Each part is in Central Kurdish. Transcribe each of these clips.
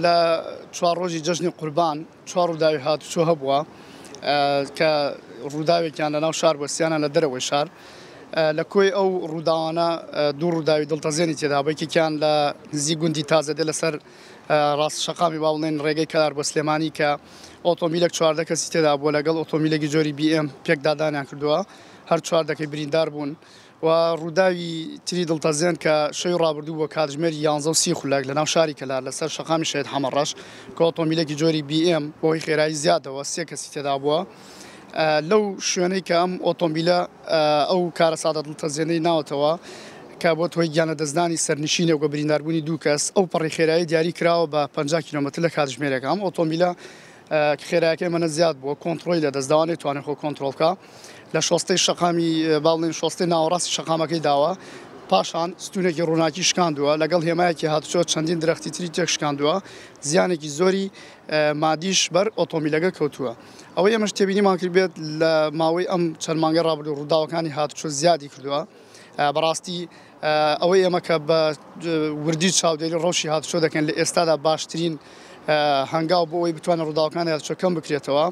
لە چوار ڕۆژی جەژنی قوربان چوار ڕووداوی هاتوچۆ هەبووە کە ڕووداوێکیان لە ناو شار بووە، سیانان لە دەرەوەی شار. لە کۆی ئەو ڕووداوانە دوو ڕووداوی دڵتەزێنی تێدا بوو، یەکێکیان لە نزیک گوندی تازەدێ لەسەر ڕاست شەقامی با بڵێن ڕێگەی کەلار بۆ سلێمانی کە ئۆتۆمبیلێک 14 کەسی تێدا بووە لەگەڵ ئۆتۆمبیلێکی جۆری بی ئێم پێکدادانیان کردووە، هەر چواردەکەی بریندار بوون. و ڕووداوی تری دڵتەزێن کە شەوی ڕابردوو بووە کاتژمێر 11 و 30 خولەک لەناو شاری کەلار لەسەر شەقامی شەهید حەمەڕەش کە ئۆتۆمبیلێکی جۆری بی ئێم بەهۆی خێرایی زیادەوە سێ کەسی تێدا بووە لەو شوێنەی کە ئەم ئۆتۆمبیلە ئەو کارەساتە دڵتەزێنەی ناوەتەوە کە بۆتە هۆی گیانلەدەستدانی سەرنشینێک و برینداربوونی دوو کەس، ئەو پەڕی خێرایی دیاری کراوە بە 50 کیلۆمەتر لە کاتژمێرێک. ئەم ئۆتۆمبیلە خێرایەکەی ئەمەنە زیاد بووە، کۆنترۆڵی لەدەستداوە، نەیتوانێت خۆ کۆنترۆڵ بکا. لە شۆستەی شەقامی با بڵێین شۆستەی ناوەڕاستی شەقامەکەی داوە، پاشان ستوونێکی ڕووناکی شکاندووە، لەگەڵ هێمایەکی هاتوچۆ چەندین درەختی تری تێک شکاندووە، زیانێکی زۆری مادیش بەر ئۆتۆمبیلەکە کەوتووە. ئەوەی ئێمەش تێبینیمان کردبێت لە ماوەی ئەم چەند مانگەی ڕابردوو ڕووداوەکانی هاتوچۆ زیادی کردووە. بەڕاستی ئەوەی ئێمە کە بە وردی چاودێری ڕەوشی هاتوچۆ دەکەین لە ئێستادا باشترین هەنگاو بۆ ئەوەی بتوانێت ڕووداوەکانی هاتوچۆ کەم بکرێتەوە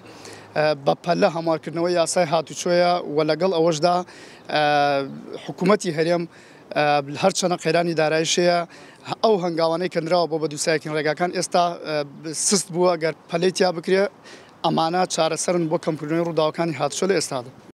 بە پەلە هەموارکردنەوەی یاسای هاتوچۆیە و لەگەڵ ئەوەشدا حکوومەتی هەرێم هەرچەنە قەیرانی دارایش هەیە ئەو هەنگاوانەی کە نراوە بۆ بە دووسایەکین ڕێگاکان ئێستا سست بووە گەر پەلەی تیا بکرێ ئەمانە چارەسەرن بۆ کەمکردنەوەی ڕووداوەکانی هاتوچۆ لە ئێستادا.